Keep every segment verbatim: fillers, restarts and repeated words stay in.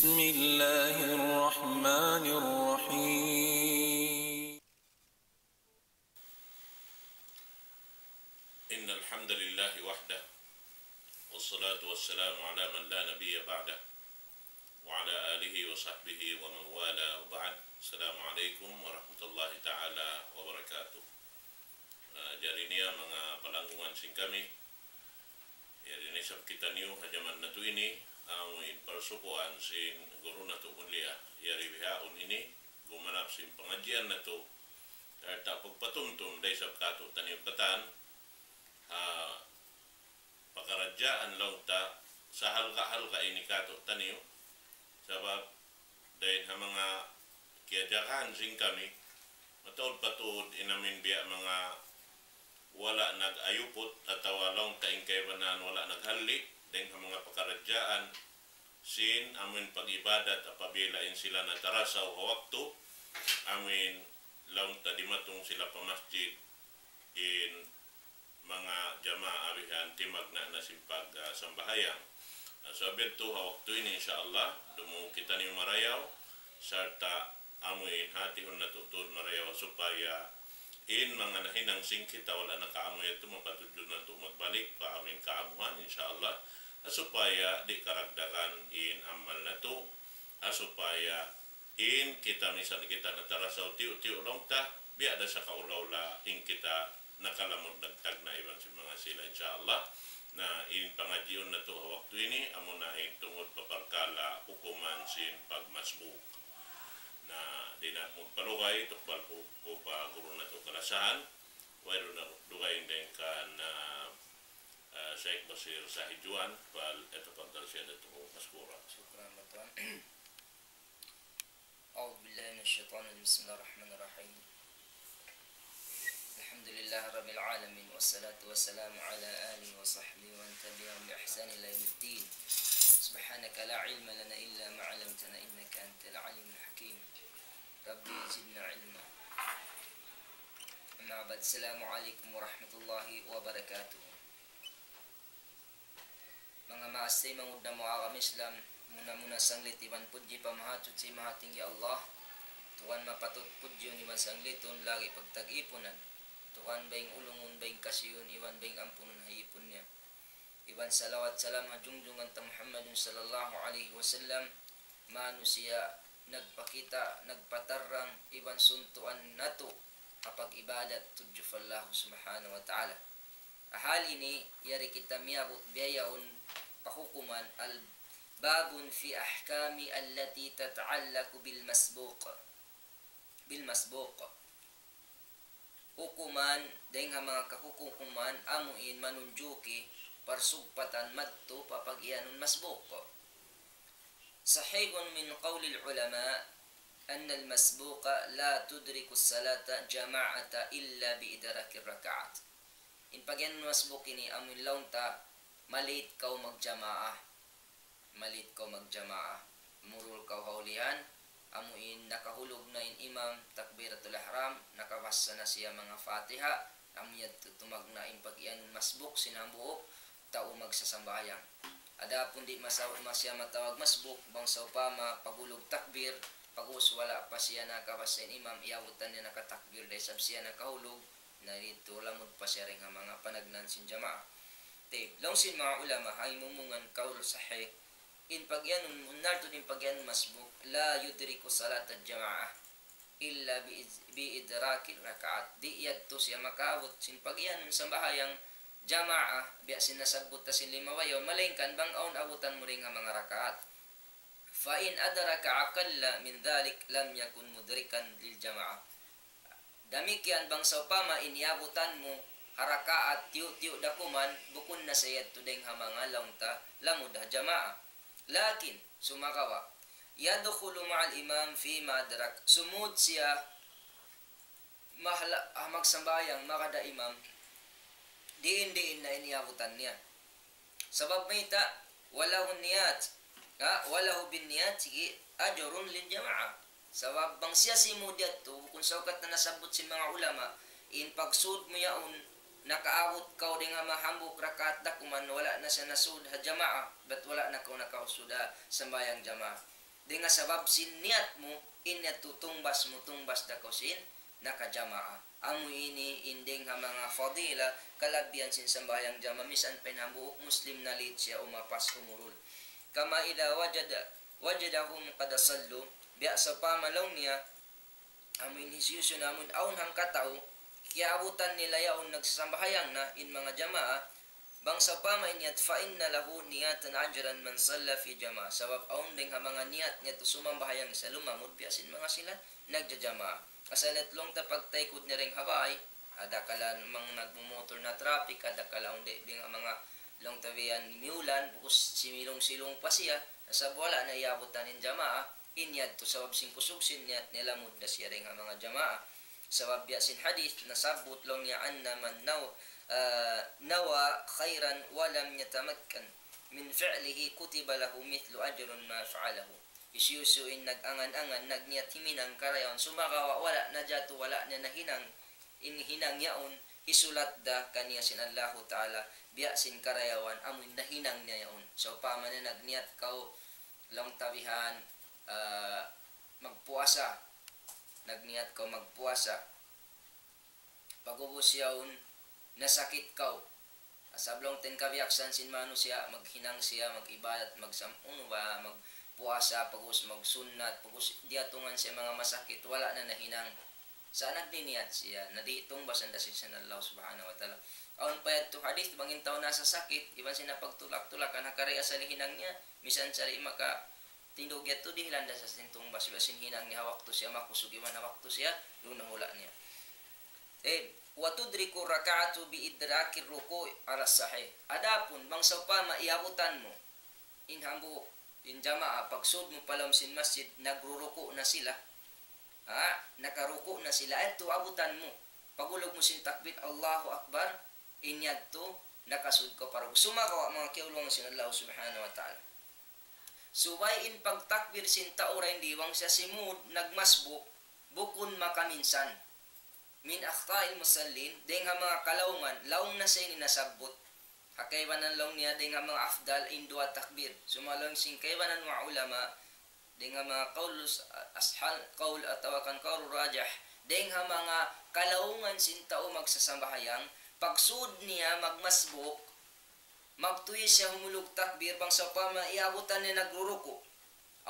بسم الله الرحمن الرحيم. إن الحمد لله وحده، والصلاة والسلام على من لا نبي بعده، وعلى آله وصحبه ومن والاه، وبعد. السلام عليكم ورحمة الله تعالى وبركاته. Ah, jari niya manga palanggungan sin kami, yari na isab kitaniyu ha jaman natu' ini, amu in parsukuan sin guru natu' mulia, yari bihaun ini, gumanap sin pangadjian natu', sarta' pagpatumtum da isab kātu'niyu katan, ha pakaradjaan laung ta, sahalga'-halga' ini kātu'niyu, sabab dayn ha manga kiyajagahan sin kami, mataud pa tuud in amin biya' manga wala' nag-ayuput atawa laung ta in kaibanan wala' naghalli' dayn ha manga pakaradjaan sin amin pag-ibadat apabila in sila natarasaw ha waktu, amin laung ta dimatung sila pa masjid in manga jamaa bihan timagna' na sin pag, ah, sambahayang. Ah, sabab yadtu ha waktu ini, insya Allah, dumungug kitaniyu marayaw, sarta' amu in hatihun natu' tuud marayaw supaya in manga nahinang sin kita wala' nakaamu yadtu mapatudju natu' magbalik pa amu in kaamuhan, insya Allah, supaya di' karagdagan in amal natu', supaya in kita misan kita natarasaw tiyu'-tiyu' laung ta, biya' da sa kaula-ula in kita nakalamud nagtagna' iban sin manga sila, insya Allah. Na in pangadjiun natu' ha waktu ini, amuna in tungud pa parkala' hukuman sin pagmasbuk. Na di' na aku magpalugay, tukbal ku, ku pa guru natu' kalasahan, wayruun na dugaing dayn kan, ah, ah, Sheikh Basir Sahijuan, فليتفضل سيادته مشكورا. شكرا بطوان. أعوذ بالله من الشيطان الرجيم. بسم الله الرحمن الرحيم. الحمد لله رب العالمين، والصلاة والسلام على آله وصحبه ومن تبعهم بإحسان إلى يوم الدين. سبحانك لا علم لنا إلا ما علمتنا إنك أنت العليم الحكيم. رب زدنا علما. أما بعد، السلام عليكم ورحمة الله وبركاته. Manga maas taymanghud namu' ha agama Islam, muna-muna sanglit iban pudji pa Mahachuchi Mahatinggi Allah, Tuhan mapatut pudjihun iban sanglitun, lagi' pagtag-ipunan, Tuhan baying ulungun, baying kasiyun, iban baying ampunun ha ipun niya. Iban salawat salam ha jungjungan ta Muhammadun sallallahu alayhi wasallam, manusiya' nagpakita', nagpatarrang, iban suntuan natu' ha pag-ibadat tudju pa Allah subhanahu wa ta'ala. Hal ini, yari kita miyabut biya' yaun pa hukuman al-, باب في أحكام التي تتعلق بالمسبوق. بالمسبوق. Hukuman, dayn ha manga kahukuman, amu in manunjuki parsugpatan madtu pa pag-iyanun masbuk. صحيح من قول العلماء أن المسبوق لا تدرك الصلاة جماعة إلا بإدراك الركعات. In pag-iyanun masbuk ini amu in laung ta, ma-late kaw magjamaah. Ma-late kaw magjamaah. Murul kaw ha ulihan, amu in nakahulug na in imam, takbiratul ihram, nakabassa na siya manga Fatiha, amu yadtu tumagna' in pag-iyanun masbuk sin hambuuk tau magsasambahayang. Adapun di' masa-, masiya matawag masbuk, bang sawpama paghulug takbir, pag'ubus wala' pa siya nakabassa in imam, iyabutan niya nakatakbir da isab siya nakahulug, na didtu lamud pa siya dayn ha manga panagnaan sin jamaa. Tayyib, laung sin manga ulama, ha imumungan kaul sahih, in pag-iyanun, bunnal tuud in pag-iyanun masbuk, لا يدرك صلاة الجماعة إلا بإد-، بإدراك الركعات. Di' yadtu siya makaabut sin pag-iyanun sambahayang jamaa, biya' sin nasabbut ta sin lima bayaw, malaingkan bang awn abutan mu dayn ha manga rakaat. فإن أدرك أقل من ذلك لم يكن مدركا للجماعة. Damikkiyan bang sawpama in iyabutan mu ha rakaat tiyu'-tiyu' da kuman, bukun na sa yadtu dayn ha manga laung ta lamud ha jamaa. Lakin, sumagawa', يدخل مع الإمام فيما أدرك. Sumud siya mahala-, ah, magsambahayang magad ha imam, diin-diin na in iyabutan niya. Sabab mayta', وله النيات, ha, وله بالنيات أجر للجماعة. Sabab bang siya simud yadtu, bukun sa ukat na nasabbut sin manga ulama, in pagsud mu yaun, nakaabut kaw dayn ha manga hambuuk rakaat da kuman, wala' na siya nasud ha jamaa, bat wala' na kaw nakasud ha sambahayang jamaa. Dayn ha sabab sin niyat mu, in yadtu tungbas mu, tungbas da kaw sin nakajamaa. Amu ini in dayn ha manga fadila, kalabihan sin sambahayang jamaa, misan pa in hambuuk Muslim na late siya umapas umurul. كما إذا وجد وجدهم قد صلوا, biya' sawpama laung niya, amu in hisiyu-siyu na amu in awn hangkatau, kiyaabutan nila yaun nagsasambahayang na in manga jamaa, bang sawpama in yadtu, فإن له نية أجر من صلى في جماعة. Sabab awn dayn ha manga niyat niya tu sumambahayang siya lumamud biya' sin manga sila nagjajamaa. Asal at laung ta pagtaykud niya dayn ha bay, adakala mang nagmumotor na traffic, adakala awn di' dayn ha manga laung ta biyan miyulan, bukus similung-silung pa siya, sabab wala' na iyaabutan in jamaa, in yadtu sabab sin kusug sin niyat niya lamud da siya dayn ha manga jamaa. Sabab biya' sin hadith nasabbut laung niya أن من نو-, ah, نوى خيرا ولم يتمكن من فعله كتب له مثل أجر ما فعله. Hisiyu-siyu in nag-angan-angan, nagniyat himinang karayawan, sumagawa' wala' najatu, wala' niya nahinang, in hinang yaun, hisulat da kaniya sin Allahu Ta'ala, biya' sin karayawan, amu in nahinang niya yaun. Sawpama niya nagniyat kaw, laung ta bihan, ah, magpuasa. Nagniyat kaw magpuasa. Pag'ubus yaun, nasakit kaw. Sabab laung ta in kabiyaksahan sin manusiya', maghinang siya, mag-ibadat, magsam-, unu ba, magpuasa, pag'ubus magsunnat, pag'ubus diyatungan siya manga masakit, wala' na nahinang. Sa' nagniniyat siya, na di' tungbasan da sin Allah Subhanahu wa Ta'ala. Awn pa yadtu hadith, bang in tau nasasakit, iban siya napagtulak-tulakan, ha kari asal hinang niya, misan sa' di' maka tindug yadtu dihilan da sa sin tungbas, biya' sin hinang niya ha waktu siya makusug iban ha waktu siya duun ha hula' niya. Eh, وتدرك الركعة بإدراك الركوع على الصحيح. Adapun, bang sawpama iyabutan mu, in hambuuk, in jamaa, pagsud mu pa lawm sin masjid, nagruruku' na sila. Ha? Nakaruku' na sila. Yadtu abutan mu. Pag'ulug mu sin takbir, Allahu Akbar, in yadtu, nakasud kaw pa ruku'. Sumagawa' manga kiyaulungan sin Allah Subhanahu wa Ta'ala. Subay in pagtakbir sin tau dayn di bang siya simud nagmasbuk, bukun makaminsan. من أخطاء المصلين, dayn ha manga kalaungan, laung na sa ini nasabbut. Ha kaibanan laung niya dayn ha manga afdal in duwa takbir. Sumagawa' laung sin kaibanan manga ulama, dayn ha manga qawl as-, ashal qawl atawa kan qawl rajih, dayn ha manga kalaungan sin tau magsasambahayang, pagsud niya magmasbuk, magtuy siya humulug takbir, bang sawpama iyabutan niya nagruruku'.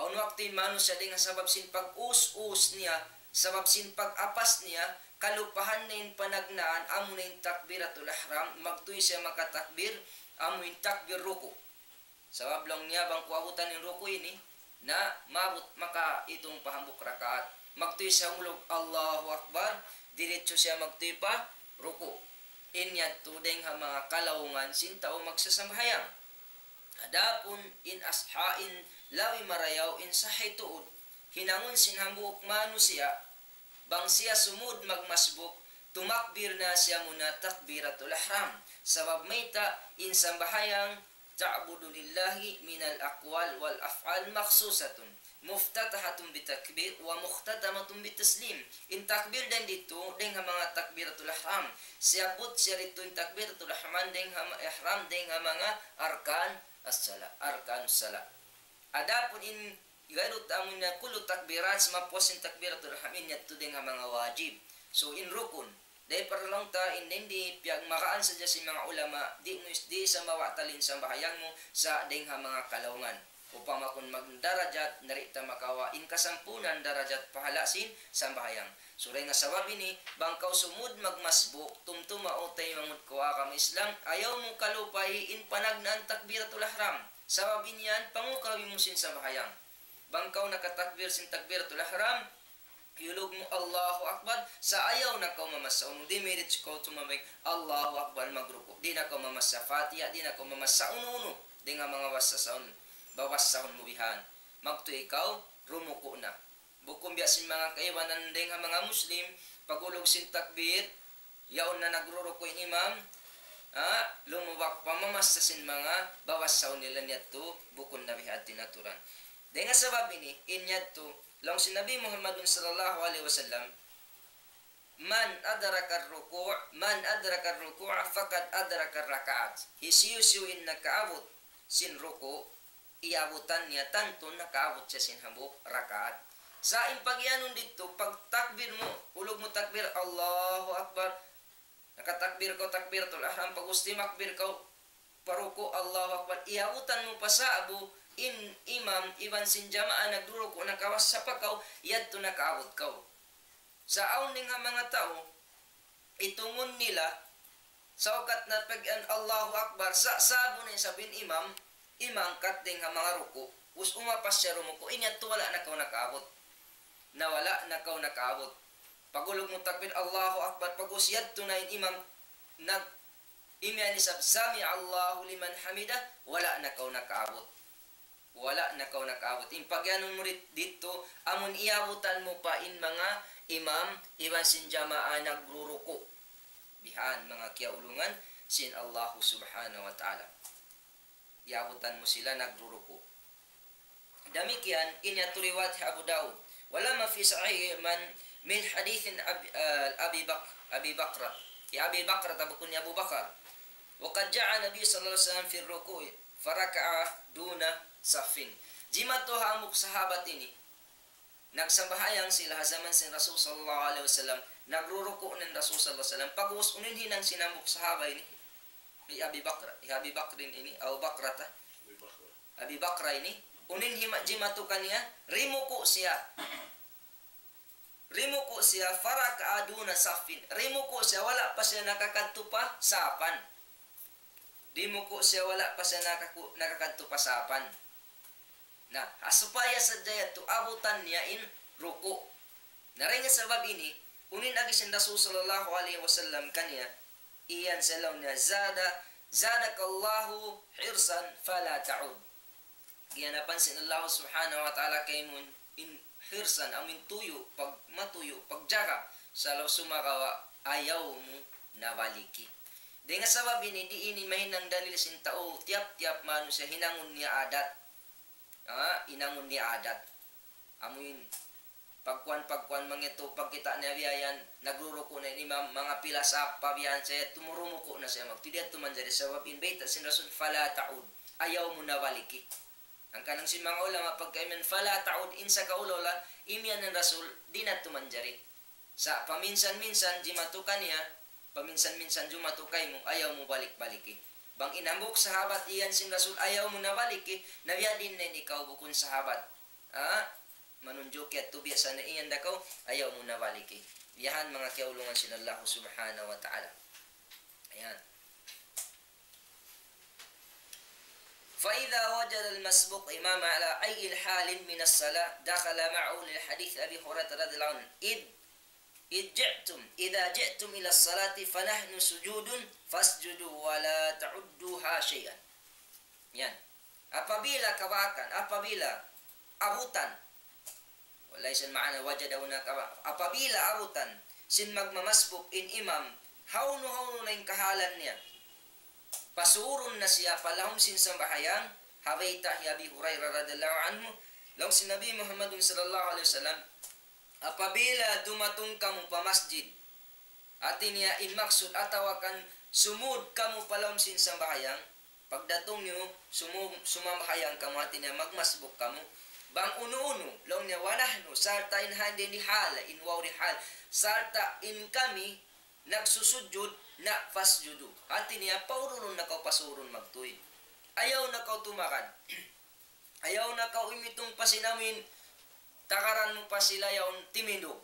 Awn waktu in manusiya' dayn ha sabab sin pag-us-us niya, sabab sin pag-apas niya, kalupahan niya in panagnaan, amu na in takbiratul ihram, magtuy siya makatakbir, amu in takbir ruku'. Sabab laung niya bang ku abutan in ruku' ini, na maabut maka itung pa hambuuk rakaat. Magtuy siya humulug, Allahu Akbar, diritsu siya magtuy pa ruku'. In yadtu dayn ha manga kalaungan sin tau magsasambahayang. Adapun in asha in labi marayaw in sahih tuud, hinangun sin hambuuk manusiya', bang siya sumud magmasbuk, tumakbir na siya muna takbiratul ihram. Sabab mayta' in sambahayang تعبد لله من الأقوال والأفعال مخصوصة مفتتحة بتكبير ومختتمة بتسليم. In takbir dayn ditu, dayn ha manga takbiratul ihram. Siyabbut siya ditu in takbiratul ihram, dayn ha ma-, ihram, dayn ha manga arkan as-sala, arkan as-sala. Adapun in gayru ta amun na kullu takbirat, sumapos in takbiratul ihram, in yadtu dayn ha manga wajib. So, in rukun. Dayn ha parlaung ta, in dayn di piyagmagaan sadja sin manga ulama, di' mu is-, di' sa mabatal in sambahayang mu sa' dayn ha manga kalaungan. Upama kun magdarajat, na di' ta makawa' in kasampunan darajat pahala' sin sambahayang. So, dayn ha sabab ini, bang kaw sumud magmasbuk, tumtuma u taymanghud ku ha agama Islam, ayaw mu kalupahi in panagnaan takbiratul ihram. Sabab in yan, pangukabi mu sin sambahayang. Bang kaw nakatakbir sin takbiratul ihram, iyulug mu Allahu Akbar, sa' ayaw na kaw mamassa unu, di' mirit kaw tumabay, Allahu Akbar, magruku'. Di' na kaw mamassa Fatiha, di' na kaw mamassa unu-unu. Dayn ha manga bassahun, babassahun mu bihan. Magtuy ikaw, rumuku' na. Bukun biya' sin manga kaibanan dayn ha manga Muslim, pag'ulug sin takbir, yaun na nagruruku' in imam, ha, lumubak pa mamassa sin manga babassahun nila, in yadtu, bukun na biha' in aturan. Dayn ha sabab ini, in yadtu, laung sin Nabi Muhammadun sallallahu alayhi wasallam, من أدرك الركوع، من أدرك الركوع فقد أدرك الركعة. Hisiyu-siyu in nakaabut sin ruku', iyabutan niya, tantu nakaabut siya sin hambuuk rakaat. Sa' in pagiyanun didtu, pagtakbir mu, ulug mu takbir, Allahu Akbar. Nakatakbir kaw, takbiratul ihram, pag'ubus timakbir kaw, paruku', Allahu Akbar. Iyabutan mu pa sa'bu in imam iban sin jamaa nagruruku' na kawas sa pa kaw, yadtu nakaabut kaw. Sa' awn dayn ha manga tau, itungun nila, saukat na pag-iyan Allahu Akbar, sa' sa'bu na isab in imam, imangkat dayn ha manga ruku', ubus umapas siya rumuku', in yadtu wala' na kaw nakaabut. Na wala' na kaw nakaabut. Pag'ulug mu takbir, Allahu Akbar, pag'ubus yadtu na in imam nag-, imiyan isab, "Sami'allahu liman hamidah," wala' na kaw nakaabut. Wala' na kaw nakaabut. In pagiyanun mu dit-, didtu, amun iyabutan mu pa in manga imam, iban sin jamaa nagruruku'. Bihan manga kiyaulungan sin Allahu Subhanahu wa Ta'ala. Iyabutan mu sila nagruruku'. Damikkiyan, in yadtu riwayat Abu Dawud. ولما في صحيح من، من حديث أبي، آه، أبي بك-، أبي بكرة. Hi Abi Bakra, tabukun hi Abu Bakar. وقد جاء النبي صلى الله عليه وسلم في الركوع فركع دون صف. Jimatu ha hambuuk sahabat ini. Nagsambahayang sila ha jaman sin Rasul sallallahu alayhi wasallam. Nagruruku' na in Rasul sallallahu alayhi wasallam. Pag'ubus unu in hinang sin hambuuk sahaba ini. Hi Abi Bakr, hi Abi Bakrin ini, Abu Bakrata. Abi Bakra ini, unu in hima-, jimatu kaniya, rimuku' siya. Rimuku' siya, فركع دون صف. Rimuku' siya, wala' pa siya nakakadtu pa sapan. Rimuku' siya, wala' pa siya nakaku-, nakakadtu pa sapan. Na, ha supaya sadja yadtu abutan niya in ruku'. Na dayn ha sabab ini, unu in agi sin Rasul sallallahu alayhi wasallam kaniya, iyan sa laung niya, "Zada-, زادك الله حرصا فلا تعد." Giyanapan sin Allah subhanahu wa ta'ala kaymu in hirsan, amu in tuyu', pag-, matuyu', pagjaga, sa' laung sumagawa' ayaw mu na baliki. Dayn ha sabab ini, di' ini mahinang dalil sin tau, tiyap-tiyap manusiya' hinangun niya adat. Ah, hinangun niya adat. Amu in pagkuan-pagkuan manga yadtu, pagkita' niya biya' yan, nagruruku' na in imam, manga pila sap pa biya' yan, sa' yadtu mu rumuku' na siya, magtuy di' yadtu manjari, sabab in bayta' sin Rasul, "Fala ta'ud." Ayaw mu na baliki. Hangkan sin manga ulama pagka imiyan, "Fala ta'ud," in sa kaula-ula, imiyan in Rasul, di' na yadtu manjari. Sa' paminsan-minsan jimatu kaniya, paminsan-minsan jumatu kaymu, ayaw mu balik-baliki. Bang in hambuuk sahabat iyan sin Rasul, ayaw mu na baliki, na biya' diin na in ikaw bukun sahabat. Ha? Manunjuki yadtu biya' sa na iyan da kaw, ayaw mu na baliki. Yan manga kiyaulungan sin Allah subhanahu wa ta'ala. Ayan. فإذا وجد المسبوق إماما على أي حال من الصلاة دخل معه، لحديث أبي هريرة رضي الله عنه: إذ، إذ جئتم، إذا جئتم إلى الصلاة فنحن سجود فاسجدوا ولا تعدوها شيئا. Yan. Apabila kabakan, apabila abutan, وليس المعنى وجد هنا كما, apabila abutan sin magmamasbuk in imam, hawnu-hawnu na in kahalan niya, pasurun na siya pa lawm sin sambahayang, ha bayta' hi Abi Hurairah radiyallahu anhu, laung sin Nabi Muhammadun sallallahu alayhi wasallam, apabila dumatung kamu pa masjid, hati niya in maksud atawa kan sumud kamu pa lawm sin sambahayang, pagdatung niyu sumu-, sumambahayang kamu, hati niya magmasbuk kamu. Bang unu-unu, laung niya, ونحن, sarta' in handi ini hal, in waw di hal, sarta' in kami nagsusujud, na فاسجدوا. Hati niya, paurulun na kaw pasurun magtuy. Ayaw na kaw tumagad. Ayaw na kaw imitung pa sin amuin, tagaran mu pa sila yaun timindug.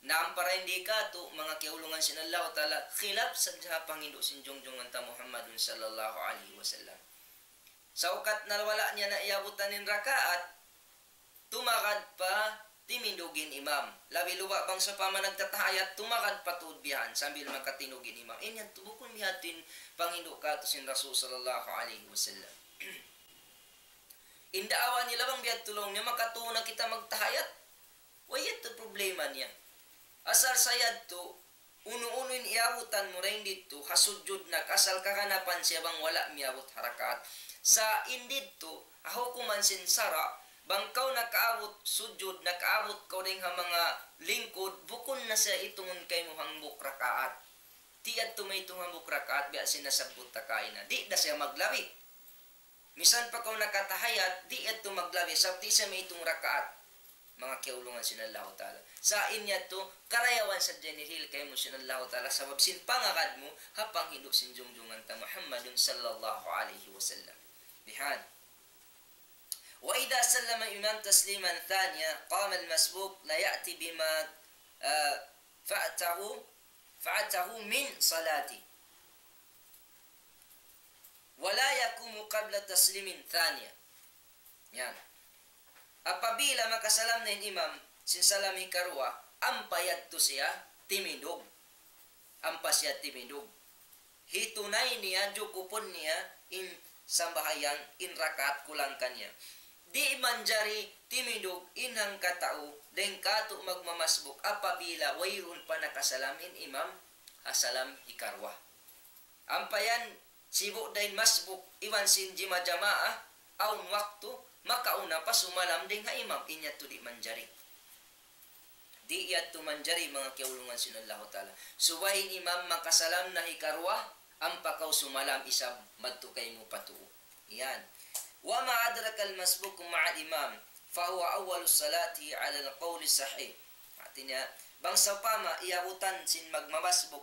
Na ampa dayn di katu', manga kiyaulungan sin Allahu Ta'ala, khilaf sadja ha panghindu' sin junjungan ta Muhammadun sallallahu alayhi wasallam. Saukat na wala' niya na iyabutan in rakaat, tumagad pa timindug in imam. Labi luba' bang sawpama nagtatahayat, tumagad pa tuud bihan sambil makatindug in imam. In yan tu bukun biha' in panghindu' katu' sin Rasul sallallahu alayhi wasallam. In daawa nila bang biya' tu laung niya, makatū na kita magtahayat. Way yadtu problema niya. Asal sa yadtu, unu-unu in iyabutan mu dayn didtu, ha sujud na, asal kaganapan siya bang wala' miyabut ha rakaat. Sa' in didtu, ha hukuman sin sara', bang kaw nakaabut sujud, nakaabut kaw dayn ha manga lingkud, bukun na siya itungun kaymu hambuuk rakaat. Di' yadtu maitung hambuuk rakaat, biya' sin nasabbut ta kaina. Di' da siya maglabi. Misan pa kaw nakatahiyat, di' yadtu maglabi, sabab di' siya maitung rakaat. Manga kiyaulungan sin Allahu Ta'ala. Sa' in yadtu, karayawan sadja in hirihil kaymu sin Allahu Ta'ala, sabab sin pangagad mu, ha panghindu' sin jungjungan ta Muhammadun sallallahu alayhi wasallam. Bihan. وإذا سلم الإمام تسليما ثانيا قام المسبوق ليأت بما، آه، فاته، فاته من صلاته. ولا يقوم قبل تسليم ثانيا. Yan. Apabila makasalam na in imam, sin salam hikaruwa, ampa yadtu siya timindug. Ampa siya timindug. Hitunay niya, jukupun niya, in sambahayang, in rakaat kulang kaniya. Di' manjari timindug in hangkatau, dayn kātu' magmamasbuk apabila wayruun pa nakasalam in imam, ha salam hikaruwa. Ampa yan, sibu' da in masbuk, iban sin jima jamaa, awn waktu, makauna pa sumalam dayn ha imam, in yadtu di' manjari. Di' yadtu manjari manga kiyaulungan sin Allahu Ta'ala. Subay in imam makasalam na hikaruwa, ampa kaw sumalam isab madtu kaymu pa tuu. Yan. وما أدرك المسبوق مع الإمام فهو أول الصلاة على القول الصحيح. Hāti niya, bang sawpama iyabutan sin magmamasbuk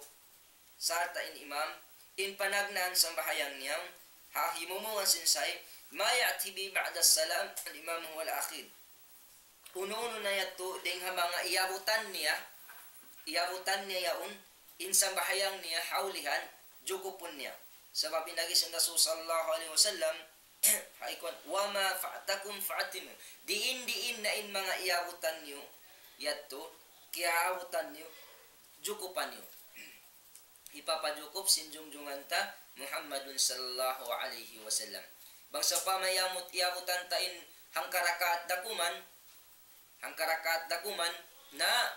sarta' in imam, in panagnaan sambahayang niya, ha himumungan sin sahih, ما يأتي به بعد السلام الإمام هو الأخير. Unu-unu na yadtu, dayn ha manga iyabutan niya, iyabutan niya yaun, in sambahayang niya, ha ulihan, jukupun niya. Sabab in agi sin Rasul sallallahu alayhi wasallam, ha ikuan, وما فاتكم فأتموا. Diin-diin na in manga iyabutan niyu, yadtu, kiyaabutan niyu, jukupan niyu. Hipapajukup sin jungjungan ta Muhammadun sallallahu alayhi wasallam. Bang sawpama iyamut, iyabutan ta in hangka rakaat dakuman, hangka rakaat dakuman, na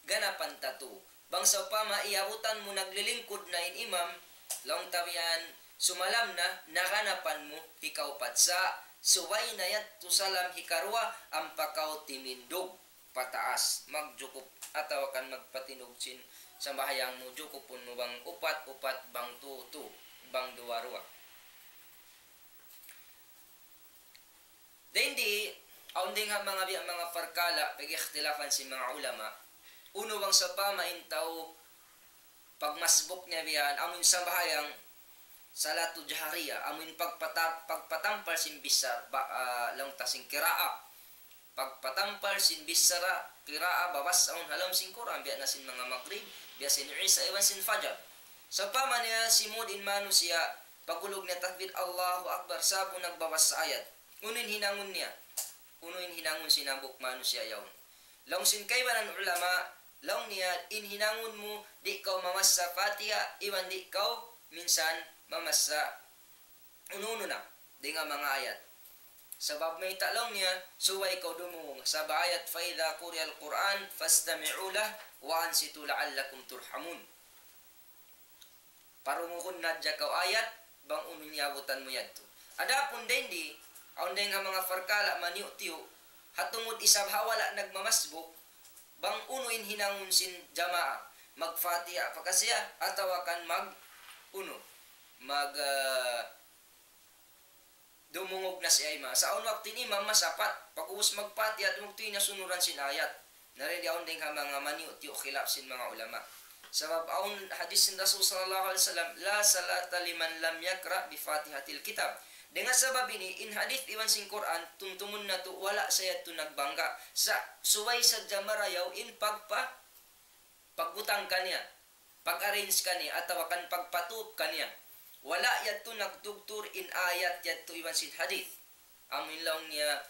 ganapan ta tu. Bang sawpama iyabutan mu naglilingkud na in imam, laung ta bihan sumalam na, na ganapan mu hikaupat. Sa' subay na yadtu salam hikaruwa, ampa kaw timindug pataas, magjukup, atawa kan magpatindug sin sambahayang mu, jukupun mu bang upat, upat, bang tu, tu, bang duwa, duwa. Dayn di, awn dayn ha manga biya' manga parkala', pag-ikhtilafan sin manga ulama, unu bang sawpama in tau pagmasbuk niya bihan, amu in sambahayang salatu jahariya, amu in pagpata-, pagpatampal sin bichara, ba-, ah, laung ta sin kiraa. Pagpatampal sin bichara, kiraa, babasahun ha lawm sin Qur'an, biya' na sin manga Magrib, biya' sin Isa, iban sin Fajar. Sawpama niya simud in manusiya', pagulug niya takbir, Allahu Akbar, sa'bu nagbabasa ayat. Unu in hinangun niya? Unu in hinangun sin hambuuk manusiya' yaun? Laung sin kaibanan ulama, laung niya, in hinangun mu, di' kaw mamassa Fatiha, iban di' kaw minsan mamassa unu-unu na, dayn ha manga ayat. Sabab mayta' laung niya, subay kaw dumungug. Sabab ayat, فإذا قرئ القرآن فاستمعوا له وأنصتوا لعلكم ترحمون. Parungugun na hadja kaw ayat, bang unu in iyabutan mu yadtu. Adapun dayn di, awn dayn ha manga parkala' maniyu'-tiyu', ha tungud isab ha wala' nagmamasbuk, bang unu in hinangun sin jamaa, mag-Fatiha pa ka siya, atawa kan mag-, unu, mag-, ah, dumungug na siya imam. Sa' awn waktu in imam masapat, pag'ubus mag-Fatiha, dumungug, di' niya sunuran sin ayat. Na dayn di awn dayn ha manga maniyu'-tiyu' khilaf sin manga ulama. Sabab awn hadith sin Rasul sallallahu alayhi wasallam, لا صلاة لمن لم يقرأ بفاتحة الكتاب. Dayn ha sabab ini, in hadith iban sin Qur'an, tumtumun natu', wala' sa yadtu nagbangga'. Sa' subay sadja marayaw in pagpa-, pagbutang kaniya, pag-arrange kaniya, atawa kan pagpatup kaniya. Wala' yadtu nagtugtur in ayat yadtu iban sin hadith. Amu in laung niya,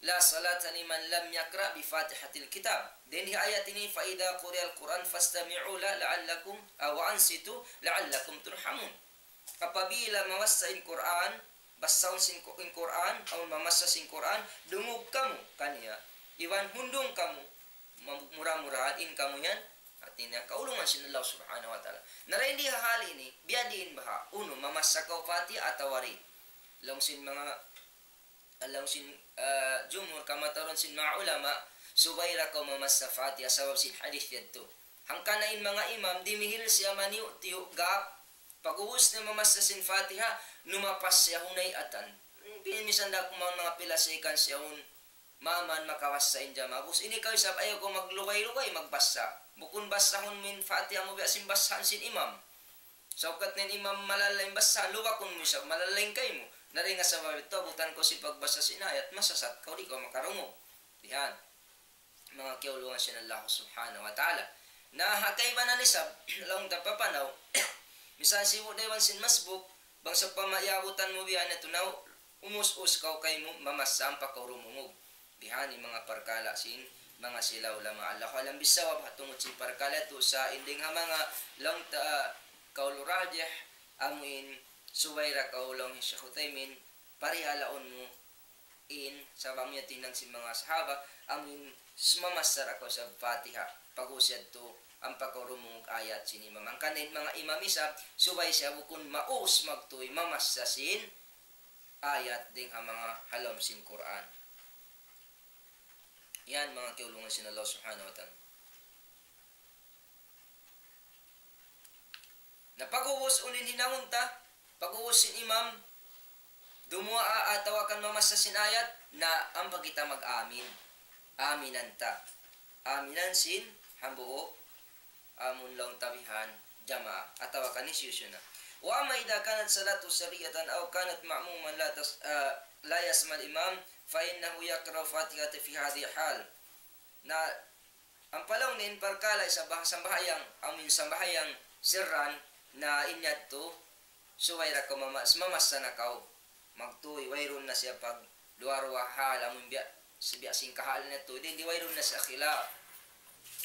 لا صلاة لمن لم يقرأ بفاتحة الكتاب. Dayn ha ayat ini, فإذا قرئ القرآن فاستمعوا له لعلكم، ah, وأنصتوا لعلكم ترحمون. Apabila mabassa in Qur'an, bassahun sin Qu-, in Qur'an, amun mamassa sin Qur'an, dungug kamu kaniya. Iban hundung kamu, mam-, mura-murahan in kamu yan, hāti niya, kaulungan sin Allah Subhanahu wa Ta'ala. Na dayn di ha hal ini, biyadiin baha', unu, mamassa kaw Fatiha atawa di'. Laung sin manga, laung sin, ah, jumhur, kamatauran sin manga ulama, subay da kaw mamassa Fatiha, sabab sin hadith yadtu. Hangkan in manga imam, dimihil siya maniyu'-tiyu' gap, pag'ubus niya mamassa sin Fatiha, numapas siya hunay'atan. Hmm, Pin-, misan da kuman manga pila seconds yaun, maman makabassa in jamaah. Ubus ini kaw isab ayaw kaw maglugay-lugay magbassa. Bukun bassahun mu in Fatiha mu biya' sin bassahan sin imam. Sa' ukat na in imam malala' in bassahan, lubakun mu isab, malala' in kaymu. Na dayn ha sabab yadtu, abutan kaw sin pagbassa sin ayat, masasat kaw, di' kaw makarungug. Bihan. Manga kiyaulungan sin Allah Subhanahu wa Ta'ala. Na ha kaibanan isab, laung ta papanaw, misan sibu' da iban sin masbuk, bang sawpama iyabutan mu biya' na tunaw, umus-us kaw kaymu, mamassa ampa kaw dumungug. Bihan in manga parkala' sin, manga sila ulama. Allahu a'lam bissawab, ha tungud sin parkala' yadtu sa' in dayn ha manga laung ta, kaul rajih, amu in subay da kaw laung hi Shaykh Uthaymin, parihalaun mu, in, sabab niya tinang sin manga sahaba, amu in s-, mamassa da kaw sa Fatiha. Pag-ubus yadtu, ampa kaw dumungug ayat sin imam. Hangkan in manga imam isab, subay siya bukun maus magtuy mamassa sin ayat dayn ha manga ha lawm sin Qur'an. Yan, manga kiyaulungan sin Allah Subhanahu wa Ta'ala. Na pag-ubus unu in hinangun ta, pag-ubus sin imam, dumuwaa atawa kan mamassa sin ayat, na ampa kita mag-amin. Aminan ta. Aminan sin hambuuk, amun laung ta bihan, jamaah, atawa kan hisiyu-siyu na. وأما إذا كانت صلاته سرية أو كانت مأموما لا تس-، آه، لا يسمع الإمام، فإنه يقرأ الفاتحة في هذه الحال. Na, ampa laung niya in parkala' isab ha sambahayang, amu in sambahayang sirran, na in yadtu, subay da kaw mama-, mamassa na kaw. Magtuy, wayruun na siya pagduwa-ruwa hal, amu in biya', si biya' sin kahal niya tu, dayn di wayruun na siya khilaf.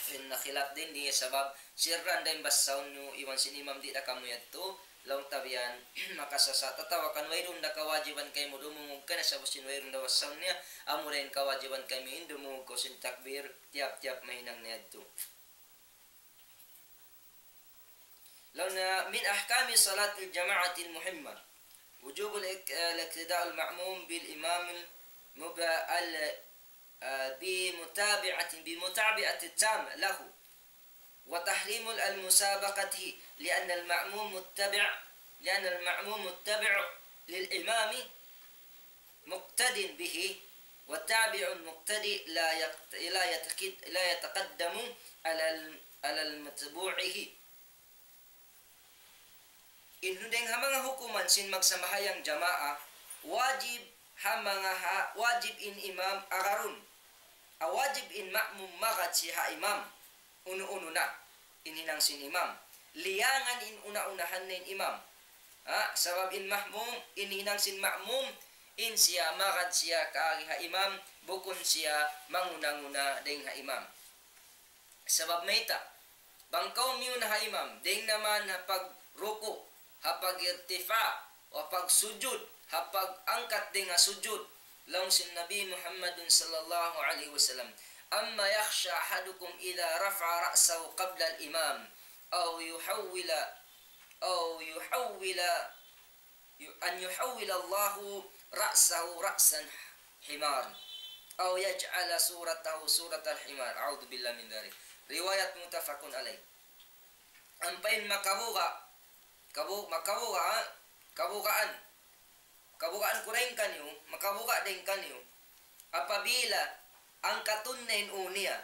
Wayruun na khilaf dayn di, sabab sirran da in bassahun niyu iban sin imam, di' da kamu yadtu, laung ta bihan, makasasat, atawa kan wayruun da kawajiban kaymu dumungug kaniya, sabab sin wayruun da bassahun niya, amu da in kawajiban kaymu in dumungug kaw sin takbir, tiyap-tiyap mahinang na yadtu. Laung niya, من أحكام صلاة الجماعة المهمة وجوب الاق-، الاقتداء المأموم بالإمام المب-، ال-، آه، بمتابعة، بمتابعة التام له، وتحريم المسابقة، لأن المأموم متبع، لأن المأموم متبع للإمام مقتد به، والتابع المقتدي لا يقت-، لا يتقد-، لا يتقدم على ال-، على المتبوعه. In dayn ha manga hukuman sin magsambahayang jamaa, wajib ha manga ha-, wajib in imam agarun. A, wajib in ma'mum magad siya ha imam. Unu-unu na in hinang sin imam. Liyangan in una-unahan na in imam. Ha, sabab in ma'mum, in hinang sin ma'mum, in siya magad siya kaagi ha imam, bukun siya manguna-nguna dayn ha imam. Sabab mayta', bang kaw miyuna ha imam, dayn naman ha pagruku', ha pag-irtifa', ha pagsujud, ha pag-angkat dayn ha sujud. Laung sin Nabi Muhammadun sallallahu alayhi wasallam, أما يخشى أحدكم إذا رفع رأسه قبل الإمام أو يحول، أو يحول أن يحول الله رأسه رأس حمار أو يجعل صورته صورة الحمار. أعوذ بالله من ذلك. Riwayat muttafaqun alayh. Ampa in makabuga', kabu-, makabuga', ha? Kabugaan. Kabugaan ku dayn kaniyu, makabuga' dayn kaniyu. Apabila angkatun na in ū niya,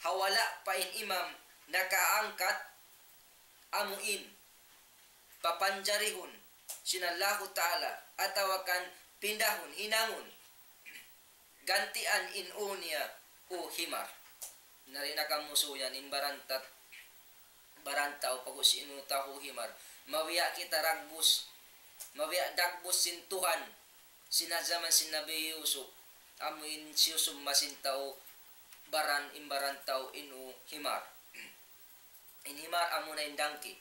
ha wala' pa in imam nakaangkat, amu in papanjarihun sin Allahu Ta'ala, atawa kan pindahun, hinangun, gantian in ū niya ū himar. Na di' na kamu suyan in barantat, baran tau pag-ubus in ū tau himar. Mabiya' kita dagbus, mabiya' dagbus sin Tuhan, sin ha jaman sin Nabi Yusuf, amu in siyusumma sin tau baran, in baran tau in ū himar. In himar amuna in dangki.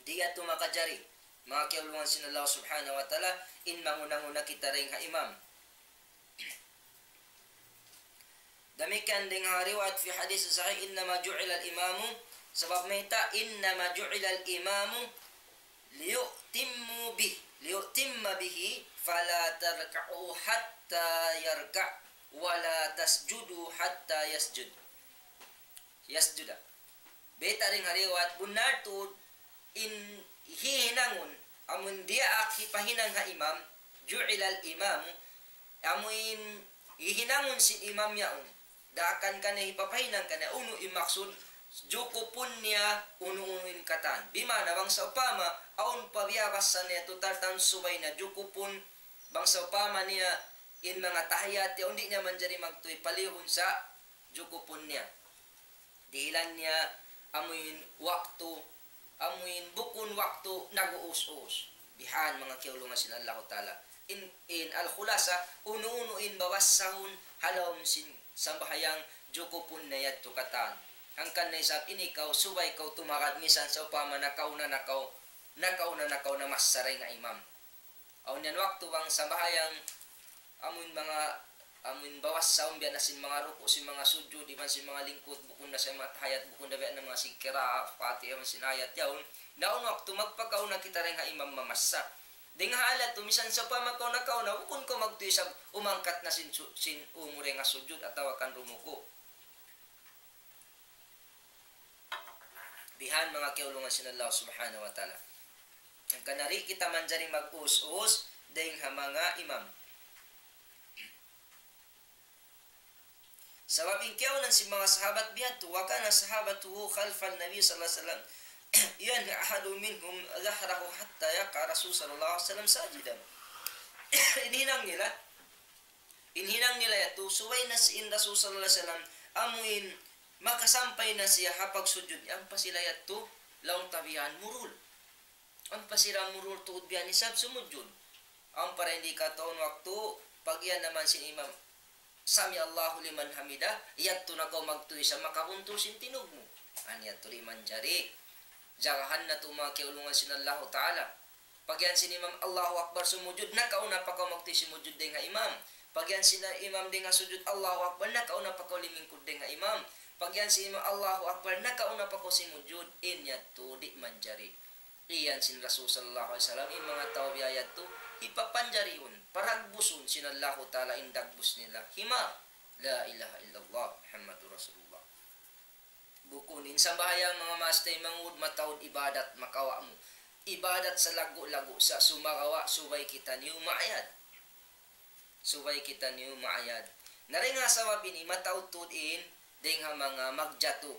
Di' yadtu makajari, manga kiyaulungan sin Allah Subhanahu wa Ta'ala, in manguna-nguna kita dayn ha imam. Damikkiyan dayn ha riwayat fi hadith sahih, إنما جعل الإمام, sabab mayta', إنما جعل الإمام ليؤتم به، ليؤتم به، فلا تركعوا حتى يركع، ولا تسجدوا حتى يسجد. Yasjuda. Bayta' dayn ha riwayat, bunnal tuud in hihinangun, Amun diyaak hipahinang ha imam, جعل الإمام, amuin hihinangun sin imam yaun. Daakan kaniya hipapahinang kaniya, unu in maksud, jukupun niya unu-unu in katan. Bima'na bang sawpama, awn pa biyabassa niya tutal tan subay na jukupun, bang sawpama niya in manga tahiyat yaun di' niya manjari magtuy palihun sa jukupun niya. Dihilan niya amuin waktu, amuin bukun waktu nag-uus-us. Bihan manga kiyaulungan sin Allahu Ta'ala. In, in al-khulasa, unu-unu in babassahun ha lawm sin sambahayang jukupun na yadtu katan. Hangkan na isab in ikaw, subay kaw tumagad misan sawpama nakauna na kaw, nakauna na kaw namassa dayn ha imam. Awn yan waktu bang sambahayang amuin manga, amuin bawas sa umbiya na sin manga ruku', sin manga sujud, iban sin manga lingkud, bukun na sa manga tahiyat, bukun na biya' na manga sin kira, Fatiha, iban sin ayat yaun. Na awn waktu magpakauna kita dayn ha imam mamassa. Dayn ha hal yadtu, misan sawpama kaw nakauna, bukun kaw magtuy isab umangkat na sin su-, sin umu dayn ha sujud atawa kan rumuku'. Bihan manga kiyaulungan sin Allah Subhanahu wa Ta'ala. Hangkan di' kita manjari mag-us-us dayn ha manga imam. Sabab in kiyaunan sin manga sahabat biya' tu, وكان صحابته خلف النبي صلى الله عليه وسلم ينهي أحد منهم ظهره حتى يقع الرسول صلى الله عليه وسلم ساجدا. In hinang nila, in hinang nila yadtu, subay na sin Rasul sallallahu alayhi wasallam, amuin makasampay na siya ha pagsujud niya, ampa sila yadtu, laung ta bihan murul. Ampa sila murul tuud bihan isab sumujud. Ampa da in di' kataun waktu, pag-iyan naman sin imam, سمع الله لمن حمده, yadtu na kaw magtuy sa makabuntul sin tinug mu. An yadtu di' manjari. Jagahan natu' manga kiyaulungan sin Allahu Ta'ala. Pag-iyan sin imam Allahu Akbar sumujud, nakauna pa kaw magtuy sumujud dayn ha imam. Pag-iyan sin imam dayn ha sujud Allahu Akbar, nakauna pa kaw limingkud dayn ha imam. Pag-iyan sin imam Allahu Akbar, nakauna pa kaw sumujud, in yadtu di' manjari. Iyan sin Rasul sallallahu alayhi wasallam, in manga tau biya' yadtu, hipapanjarihun, paragbusun sin Allahu Ta'ala in dagbus nila. Himar. La ilaha illallah, Muhammadur Rasulullah. Bukun in sambahayang manga maas taymanghud mataud ibadat makawa' mu. Ibadat sa lagu-lagu sa sumagawa' subay kitaniyu maayad. Subay kitaniyu maayad. Na dayn ha sabab ini mataud tuud in dayn ha manga magjatu.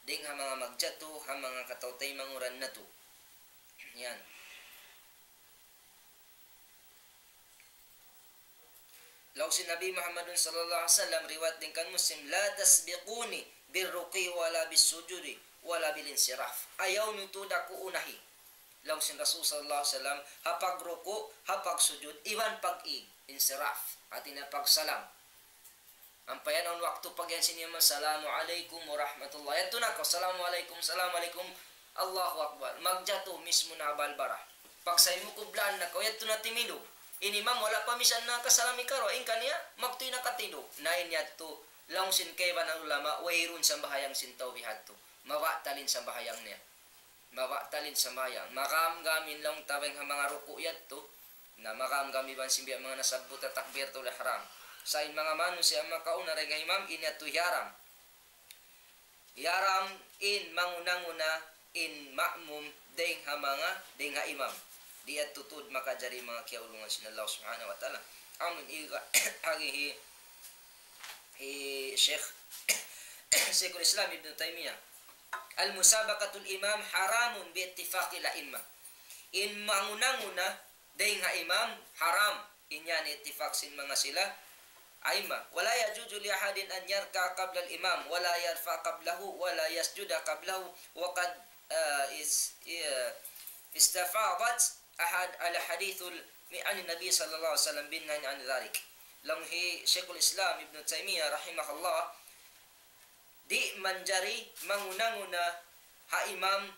Dayn ha manga magjatu, ha manga kataw-taymanghuran natu'. Yan. Laung sin Nabi Muhammadun sallallahu alayhi wasallam, riwayat dayn kan Muslim, لا تسبقوني بالركوع ولا بالسجود ولا بالانصراف. Ayaw niyu tuud aku unahi. Laung sin Rasul sallallahu alayhi wasallam, ha pagruku', ha pagsujud, iban pag-ig, insiraf, hāti niya pagsalam. Ampa yan awn waktu pag-iyan sin imam, "Assalamu alaykum wa rahmatullah." Yadtu na kaw, "Assalamu alaykum, assalamu alaykum." Allahu Akbar. Magjatu mismu na ha balbara. Pag sa imu kublaan na kaw, yadtu na timindug. In imam wala' pa misan nakasalam hikaruwa, in kaniya, magtuy na katindug. Na in yadtu, laung sin kaibanan ulama, wayruun sambahayang sin tau bihadtu. Mabatal in sambahayang niya. Mabatal in sambahayang. Magamgam in laung ta dayn ha manga ruku' yadtu. Na magamgam iban sin biya' manga nasabbut ta takbiratul ihram. Sa' in manga manusiya' makauna dayn ha imam, in yadtu hiyaram. Hiyaram in manguna-nguna in ma'mum dayn ha manga, dayn ha imam. Di' yadtu tuud makajari manga kiyaulungan sin Allah Subhanahu wa Ta'ala. Amun iga, agi hi, hi Sheikh, Sheikhul Islam Ibn Taymiyyah. المسابقة الإمام حرام باتفاق الأئمة. In manguna-nguna dayn ha imam, haram. In yan ittifaq sin manga sila a'imma. ولا يجوز لأحد أن يركع قبل الإمام، ولا يرفع قبله، ولا يسجد قبله، وقد، آه، اس-، آه، استفاضت أحد الأحاديث ال-، عن النبي صلى الله عليه وسلم بالنهي عن ذلك. Laung hi Sheikhul Islam Ibn Taymiyyah rahimahullah, di' manjari manguna-nguna ha imam,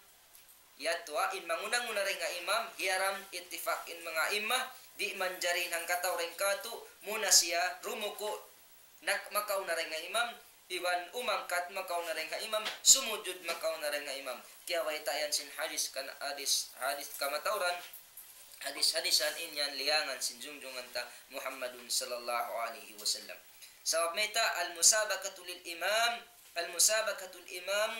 yadtu ha, in manguna-nguna dayn ha imam, hiyaram ittifaq in manga a'imma, di' manjari in hangkatau dayn kātu', muna siya rumuku', nak-, makauna dayn ha imam, iban umangkat makauna dayn ha imam, sumujud makauna dayn ha imam. Kiyabayta' yan sin hadis kan-, hadis, hadis kamatauran, hadis-hadisan in yan liyangan sin junjungan ta Muhammadun sallallahu alayhi wasallam. Sabab mayta', المسابقة للإمام، المسابقة الإمام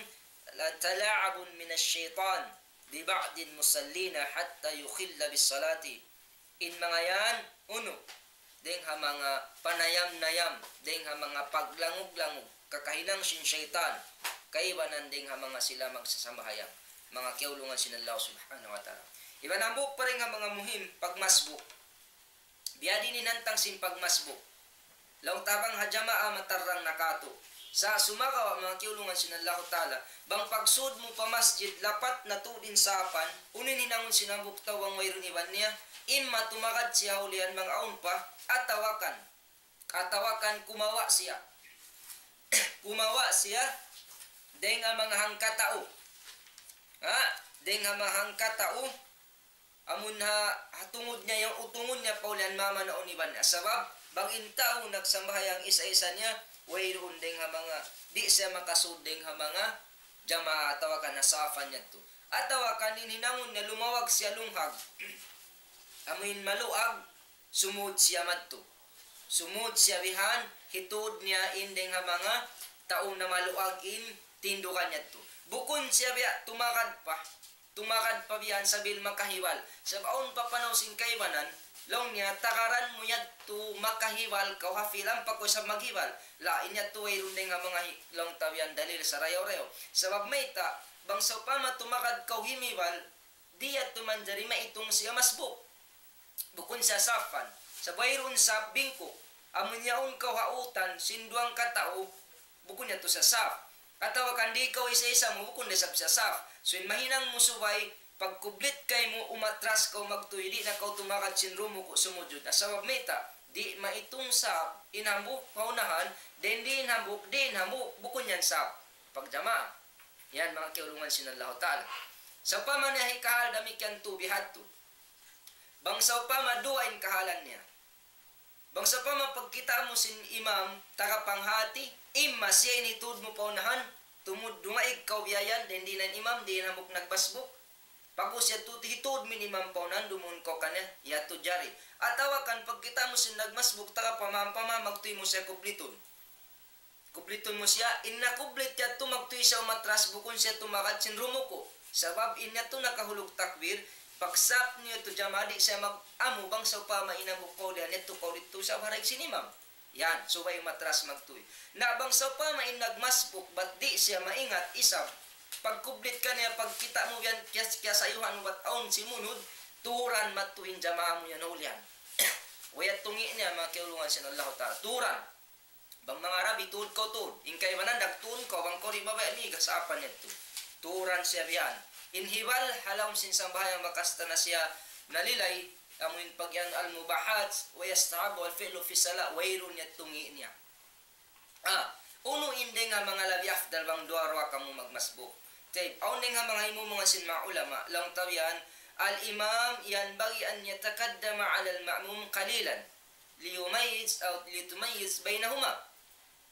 تلاعب من الشيطان. ببعض المصلين حتى يخل بالصلاة. In manga yan, unu, dayng ha manga panayam-nayam, dayng ha manga paglangug-langug, kakahinang sin saytan, kaibanan dayng ha manga sila magsasambahayang, manga kiyaulungan sin Allah Subhanahu wa Ta'ala. Iban hambuuk pa dayng ha manga muhim, pagmasbuk. Biya' diin in hantang sin pagmasbuk. Laung ta bang ha jamaa matarrang na katu'. Sa' sumagawa' manga kiyaulungan sin Allahu Ta'ala, bang pagsud mu pa masjid, lapat na tuud in sapan, unu in hinangun sin hambuuk tau bang wayruun iban niya, imma tumagad siya ha ulihan bang awn pa, atawa kan, atawa kan kumawa' siya. Kumawa' siya, dayng ha manga hangkatau. Ha? Dayng ha manga hangkatau, amun ha, ha tungud niya, yan utungun niya pa ulihan mamanaw iban niya. Sabab, bang in tau nagsambahayang isa-isa niya, wayruun dayng ha manga, di' siya makasud dayng ha manga jamaa atawa kan ha sapan niya tu. Atawa kan in hinangun niya lumawag siya lunghag. Amun maluag, sumud siya madtu. Sumud siya bihan, hitud niya in dayng ha manga tau na maluag in tindugan niya tu. Bukun siya biya' tumagad pa. Tumagad pa biya' yan sambil makahibal. Sabab awn pa panaw sin kaibanan, laung niya, tagaran mu yadtu makahibal kaw ha filam pa kaw isab maghibal. La, in yadtu wayruun dayng ha manga hi-, laung ta biya' yan dalil sarayaw-rayaw. Sabab mayta', bang sawpama tumagad kaw himibal, di' yadtu manjari maitung siya masbuk. Bukun siya sapan. Sabab wayruun sap bingku. Amun yaun kaw ha utan, sin duwang katau, bukun yadtu siya sap. Atawa kan di' kaw isa-isa mu, bukun da isab siya sap. So, in mahinang mu subay, pagkublit kaymu, umatras kaw magtuy, di' na kaw tumagad sin rumuku' sumujud. Na sabab mayta', di' maitung sap, in hambuuk pa unahan, then di' in hambuuk, di' in hambuuk, bukun yan sap. Pagjamaa. Yan, manga kiyaulungan sin Allahu Ta'ala. Sawpama niya hikahal damikkiyan tu bihadtu. Bang sawpama duwa in kahalan niya. Bang sawpama pagkita' mu sin imam, taga panghati, imma siya in hitud mu pa unahan, tumud dungaig kaw biya' yan, then di' na in imam, di' na hambuuk nagmasbuk. Pag-ubus yadtu, hitud mu in imam pa unahan, dumuun kaw kaniya, yadtu jari. Atawa kan pagkita' mu sin nagmasbuk, taga pamaham-pamaham, magtuy mu siya kublitun. Kublitun mu siya, in nakublit yadtu magtuy siya umatras bukun siya tumagad sin rumuku'. Sabab in yadtu nakahulug takbir, pagsap niya tu jamaa di' siya mag-amu bang sawpama in hambuuk kaw diyan yadtu kaw didtu sabab ha daig sin imam. Yan, subay umatras magtuy. Na bang sawpama in nagmasbuk, bat di' siya maingat isab. Pagkublit kaniya, pagkita' mu yan, kiyas-, kiyasayuhan mu bat awn simunud, turan madtu in jamaa mu yan ha ulihan. Way yadtu ngi' niya, manga kiyaulungan sin Allahu Ta'ala. Turan. Bang manga Arabi, tuud kaw tuud. In kaibanan, nagtuun kaw, bang kaw di' mabaya' migas, apa niya tu? Turan siya bihan. In hibal, ha lawm sin sambahayang bakas ta na siya nalilay, amu in pag-iyan al-mubahat, wa yastahabbu al-fi'lu fi salah, wayruun yadtu ngi' niya. Ah, unu in dayn ha manga labi afdal bang duwa-ruwa kamu magmasbuk. Tayyib, awn dayn ha manga himumungan sin manga ulama, laung ta bihan, al-imam yanbaghi an yataqaddama ala al-ma'mum qalilan. Liyumayyiz aw litumayyiz baynahuma.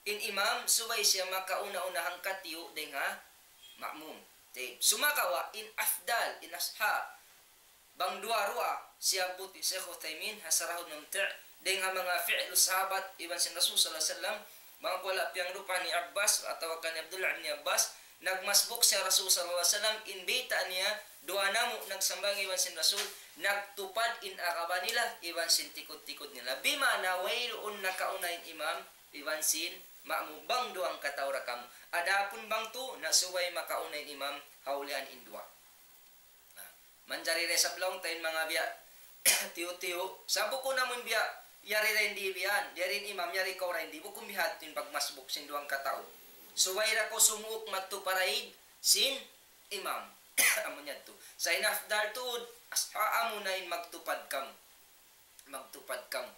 In imam, subay siya makauna-una hangkatiyu' dayn ha ma'mum. Tayyib. Sumagawa', in afdal, in ashab, bang duwa-ruwa, siyabbut hi Shaykh Uthaymin, ha Sarahul Mumti', dayn ha manga fi'lu sahabat, iban sin Rasul sallallahu alayhi wasallam, bang wala' piyangrupa ni Abbas, atawa kan Abdullah ibn Abbas, nagmasbuk siya Rasul sallallahu alayhi wasallam, in bayta' niya, duwa namu' nagsambahayang iban sin Rasul, nagtupad in aqaba nila, iban sin tikud-tikud nila. Bima'na wayruun nakauna in imam, iban sin ma'mum bang duwang katau ra kamu. Adapun bang tu, na subay makauna in imam, ha ulihan in duwa. Na, manjari da isab laung ta in manga biya' tiyu'-tiyu'. Sa' bukun amun biya', yari ra in di' bihan, yari in imam, yari kaw ra in di', bukun bihadtu in pagmasbuk sin duwang katau. Subay ra kaw sumuuk madtu pa daig sin imam. Amu niya tu. Sa' in afdal tuud, as-, amu na in magtupad kamu. Magtupad kamu.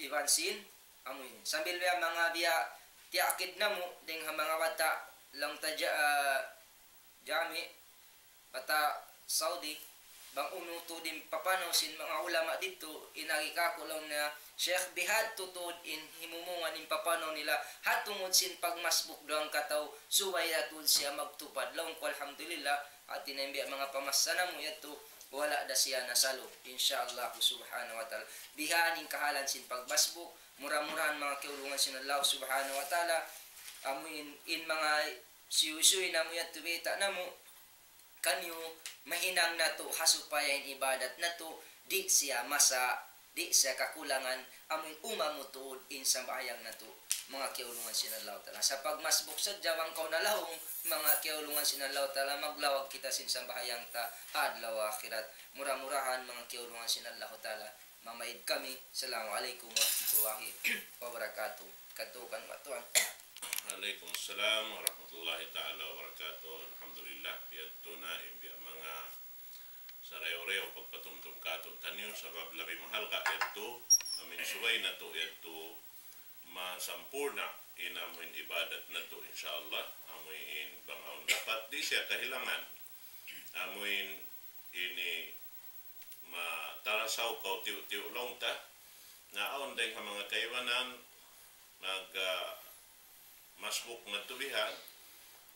Iban sin, amu ini. Sambil biya' manga biya' tiyakid namu', dayn ha manga bata', laung ta ja-, ah, jami', bata' Saudi, bang unu tuud in papanaw sin manga ulama didtu, in agi kaku' laung niya, Sheikh, bihadtu tuud in himumungan in papanaw nila, ha tungud sin pagmasbuk duwang katau, subay da tuud siya magtupad. Laung ku, alhamdulillah, hati niya in biya' manga pamassa namu' yadtu, wala' da siya nasalu, insya Allah subhanahu wa ta'ala. Bihan in kahalan sin pagmasbuk, mura-murahan manga kiyaulungan sin Allah subhanahu wa ta'ala, amu in, in manga siyuy-siyuy namu' yadtu bayta' namu', taniyu, mahinang natu' ha supaya in ibadat natu' di' siya masa', di' siya kakulangan, amuin umabut tuud in sambahayang natu', manga kiyaulungan sin Allahu Ta'ala. Sa' pagmasbuk sadja bang kaw nalawung, manga kiyaulungan sin Allahu Ta'ala, maglawag kita sin sambahayang ta ha adlaw akhirat. Mura-murahan, manga kiyaulungan sin Allahu Ta'ala, mamaid kami. Assalamu alaykum warahmatullahi wabarakatuh. Katukan wa tuan. Alaykum assalam warahmatullahi ta'ala wabarakatuh. Alhamdulillah, yadtu na in biya' manga sarayaw-rayaw pagpatumtum kātu'niyu, sabab labi mahalga' yadtu, amuin subay natu' yadtu masampurna' in amuin ibadat natu', insya Allah, amuin bang awn dapat di' siya kahilangan. Amuin ini matarasaw kaw tiyu'-tiyu' laung ta, na awn dayng ha manga kaibanan mag, ah, masbuk madtu bihan,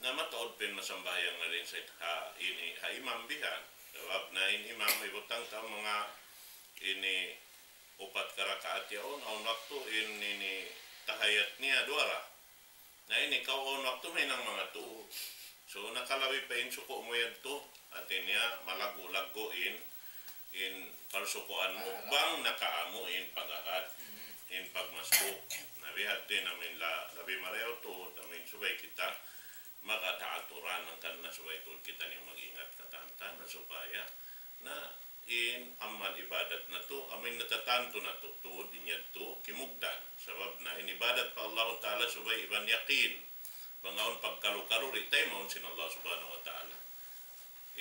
na mataud pa in masambahayang na dayn sa ha ini, ha imam bihan. Sabab na in imam ibutang ta manga ini upat ka rakaat yaun, awn waktu in ini tahiyat niya duwa ra. Na ini kaw awn waktu mahinang manga tū. So, nakalabi pa in suku' mu yadtu, hati niya malaggu'-laggu' in, in parsukuan mu, bang nakaamu in pag-agad, in pagmasbuk. Na bihadtu in amuin la-, labi marayaw tuud, amuin subay kita magkataaturan, hangkan na subay tuud kitaniyu mag-ingat katantan, na supaya na in amal ibadat natu', amuin natatantu natu' tuud in yadtu kimugdan. Sabab na in ibadat pa Allahu Ta'ala subay iban yakin. Bang awn pagkalu-kalu, di' taymaun sin Allah Subhanahu wa Ta'ala.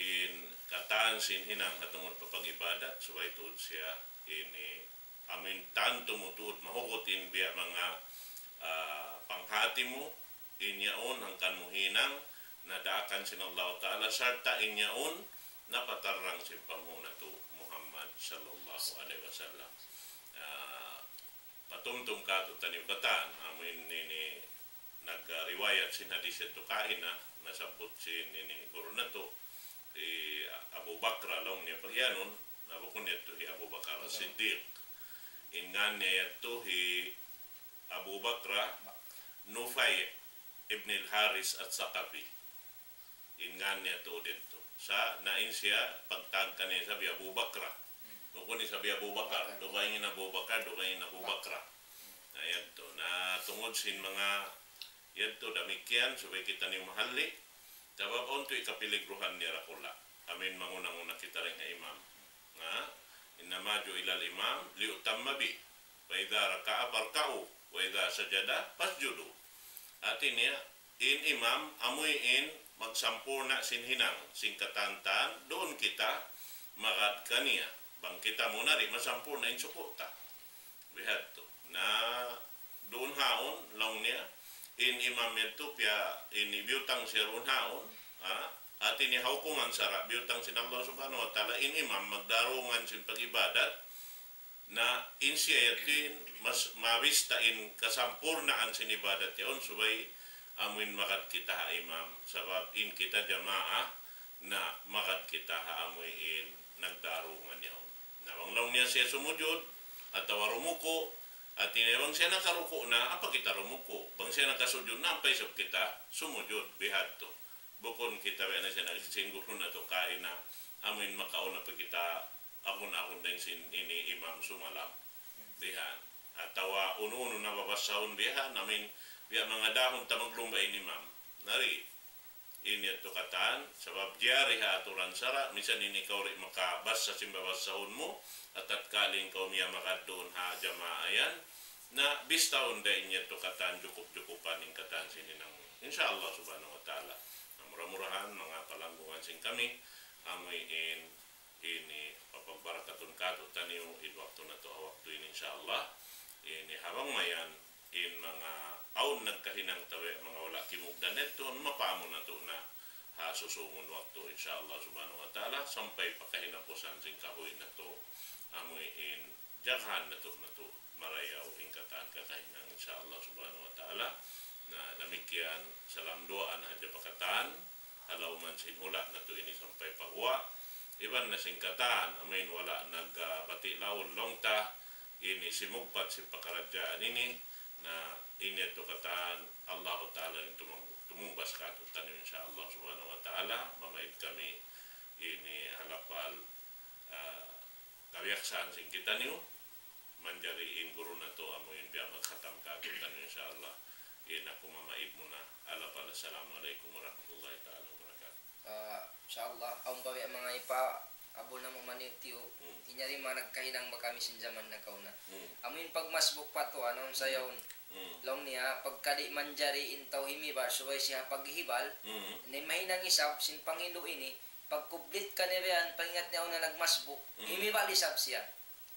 In katan sin hinang ha tungud pa pag-ibadat, subay tuud siya ini, amuin tantu mu tuud mahugut in biya' manga, ah, panghati mu, in yaun hangkan mu hinang na daakan sin Allahu Ta'ala, sarta' in yaun napatarrang sin panghu' natu' Muhammad sallallahu alayhi wasallam. Ah, patumtum kātu'niyu katan, amuin ini nagriwayat sin hadis yadtu kaina, nasabbut sin ini guru natu', hi Abu Bakra laung niya pagiyanun, na bukun yadtu hi Abu Bakar As-Siddiq. In ngān niya yadtu hi Abu Bakra Nufay ibn al-Haris As-Saqafi. In ngān niya tuud yadtu. Sa' na in siya pagtawag kaniya isab hi Abu Bakra. Bukun isab hi Abu Bakar. Dugaing in Abu Bakar, dugaing in Abu Bakra. Na yadtu. Na tungud sin manga yadtu damikkiyan, subay kitaniyu mahalli'. Sabab awn tuud kapiligruhan niya dakula'. Amuin manguna-nguna kita dayn ha imam. Na, إنما جعل الإمام ليؤتم به، فإذا ركع فاركعوا، وإذا سجد فاسجدوا. Hati niya, in imam, amuin magsampurna' sin hinang, sin katantan, duun kita magad kaniya. Bang kita mu na di' masampurna' in suku' ta. Bihadtu. Na duun haun, laung niya, in imam yadtu piya ini biyutang siya duun haun, ha? Hati niya ha hukuman sara', biyutang sin Allah Subhanahu wa Ta'ala, in imam magdarungan sin pag-ibadat, na in siya yadtu in mas mabista in kasampurnaan sin ibadat yaun, subay amuin magad kita ha imam, sabab in kita jamaah, na magad kita ha amuin nagdarungan yaun. Na bang laung niya siya sumujud, atawa rumuku', hati niya bang siya nakaruku' na, ampa kita rumuku'. Bang siya nakasujud na, ampa isab kita sumujud, bihadtu. Bukun kita biya' na siya nagsinggurun natu' kaina, amuin makauna pa kita agun-agun dayn sin ini imam sumalam. Bihan. Atawa unu-unu na babassahun bihan, amuin biya' manga dahun ta maglumba in imam. Na di'. Ini yadtu katan, sabab jari ha aturan sara', misan in ikaw di' makabassa sin babassahun mu, atatkala in kaw miyamagad duun ha jamaa yan, na bistahun da in yadtu katan jukup-jukupan in katan sin hinang mu. Insya Allah Subhanahu wa Ta'ala. Na mura-murahan, manga palanggungan sin kami, amuin ini papagbarakatun kātu'niyu in waktu natu' ha waktu ini, insya Allah. Ini ha bang mayan in manga awn nagkahinang ta biya' manga wala' kimugdan yadtu, mapaamu natu' na ha susungun waktu, insya Allah Subhanahu wa Ta'ala, sampay pa kahinapusan sin kahuy natu', amuin jagahan natu', natu' marayaw in katan kakahinang, insya Allah Subhanahu wa Ta'ala. Na damikkiyan, salam duwaa na hadja pa katan, ha lawm sin hula' natu' ini sampay pa guwa'. Iban na sin katan, amuin wala' nag, ah, bati' laung ta, ini simugpat sin pakaradjaan ini, na ini yadtu katan, Allahu Ta'ala in tumung-, tumungbas kātu'niyu, insya Allah Subhanahu wa Ta'ala, mamaid kami Ini ha lapal, ah, kabiyaksahan sin kitaniyu, manjari in guru natu' amu in biya' magkhatam kātu'niyu, insya Allah. In aku mamaid muna. Ha lapal, assalamu alaykum warahmatullahi ta'ala wabarakatuh. Ah, insya Allah, awn pa biya' manga ipaabul namu' maniyuk-tiyuk, Hmm. in yari manga nagkahinang ba kami sin jaman nakauna. Hmm. Amu in pagmasbuk pa tuwan, awn sa yaun. Hmm. Laung niya, pagka di' manjari in tau himibal, subay siya paghibal, Hmm. in mahinang isab sin panghindu' ini, pagkublit kaniya biya' yan, pangingat niya awn na nagmasbuk, Hmm. himibal isab siya.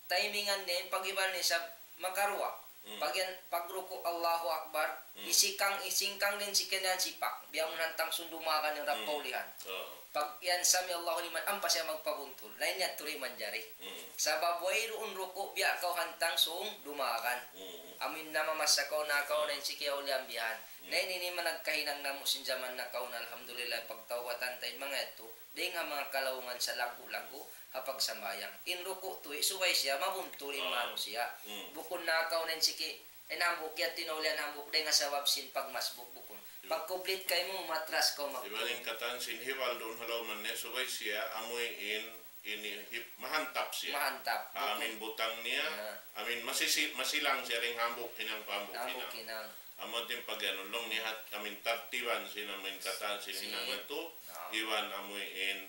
Timingan niya, in paghibal niya isab makaruwa. Hmm. Pag yan, pagruku', Allahu Akbar, Hmm. isingkang, isingkang niya in siki niya sipak. Biya' amun hantang sūng dumagan in Hmm. rapaulihan. Oo. Pag yan, sami Allahu liman, ampa siya magpabuntul. Na in yadtu di' manjari. Hmm. Sabab wayruun ruku' biya' kaw hantang sūng dumagan. Hmm. Amu in namamasa kaw na kaw na in siki awliya bihan. Hmm. Na ini in manga nagkahinang namu' sin jaman nakauna, alhamdulillah, pagtawbatan ta in manga yadtu. Dayn ha manga kalaungan sa laggu'-laggu' ha pagsambahayang. In ruku' tuwi', subay siya mabuntul in Ah. manusiya'. Hmm. Bukun na kaw na in siki, in hambuuk yadtu in awliya in hambuuk, dayn ha sabab sin pagmasbuk, bukun. Iyo. Pagkublit kaymu, matras kaw magtuy. Iban in katan sin hibal duun ha lawm niya, subay siya, amuin, ini, hib-, mahantap siya. Mahantap. Bukun. Amuin butang niya, Ah. amuin masisi-, masilang siya dayn ha hambuuk hinang pa hambuuk hinang. Hambuuk hinang. Amu in pag-anu, laung niya hat, amuin tartiban sin amuin katan sin Sin- hinang natu', Ah. iban amuin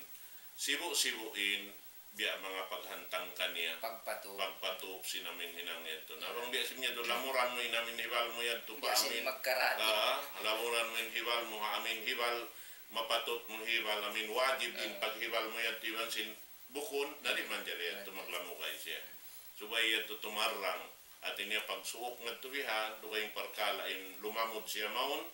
sibu'-sibu' in biya' manga paghantang kaniya. Pagpatup. Pagpatup sin amuin hinang yadtu. Na bang biya' sin yadtu, lamuran mu in amuin hibal mu yadtu pa Biya' sin amuin. magkarat. Ah, lamuran mu in hibal mu, ha amuin hibal, mapatut mu hibal, amuin wajib in Ah. paghibal mu yadtu, iban sin bukun, na di' manjari yadtu Manjari. maglamugay siya. Subay yadtu tumarrang. Hati niya pagsuuk ngadtu bihan, dugaing parkala' in lumamud siya mawn,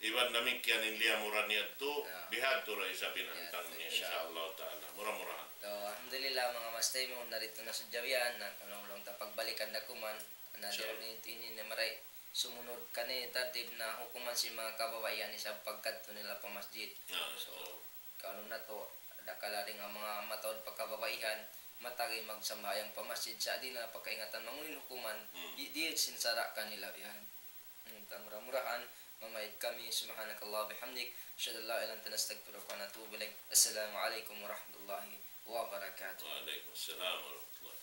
iban damikkiyan in liyamuran yadtu, Ya. bihadtu ra isab in Ya, hantang niya, insya Allah. insya Allah ta'ala. Mura-murahan. So, alhamdulillah, manga mastay mu, naritu na sadja bihan, na kanulung ta pagbalikan da kuman, na Insya Allah. Ini, ini na maray, sumunud kani, tartib na hukuman sin manga kababaihan isab pagkadtu nila pa masjid. Ya, So, insya Allah. Kanu natu', dakala' dayn ha manga mataud pa kababaihan, matagi magsambahayang pa masjid, sa' di' na pakaingatan mangunu in hukuman, Hmm. di', di' sin sara' kanila bihan. Hmm, ta mura-murahan, mamaid kami, سبحانك اللهم وبحمدك، أشهد أن لا إله إلا أنت، نستغفرك ونتوب إليك. السلام عليكم ورحمة الله وبركاته. Wa alaykum salam warahmatullahi.